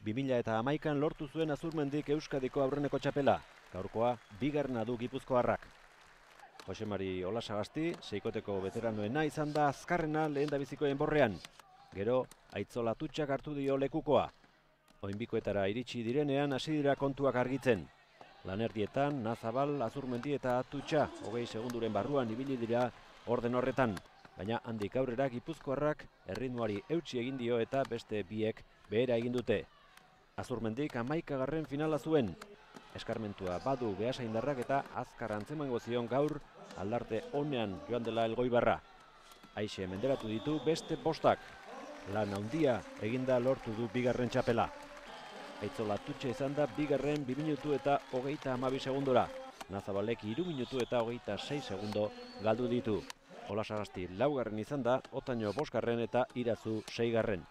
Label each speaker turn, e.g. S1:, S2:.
S1: 2011an lortu zuen Azurmendik Euskadiko aurreneko txapela. Gaurkoa, bigarrena du Gipuzkoarrak. Jose Mari Olasagasti, seikoteko veteranoena izan da azkarrena lehendabizikoen borrean. Gero, Aitzola Tutxak hartu dio lekukoa. Oinbikoetara iritsi direnean hasi dira kontuak argitzen. Lanerdietan, Nazabal, Azurmendi eta Tutxa, 20 segunduren barruan ibili dira orden horretan. Baina handik aurrera Gipuzkoarrak erritmoari eutsi egin dio eta beste biek behera egin dute. Azurmendik 11. finala zuen. Eskarmentua badu Beasaindarrak eta azkar antzemango zion gaur aldarte onean joan dela Elgoibarra. Aixe menderatu ditu beste bostak. Lan handia eginda lortu du bigarren txapela. Aitzola Tutxa izan da bigarren 2 minutu eta 32 segundora. Nazabalek 3 minutu eta 26 segundo galdu ditu. Olasagasti laugarren izan da, Otaño bosgarren eta Irazu seigarren.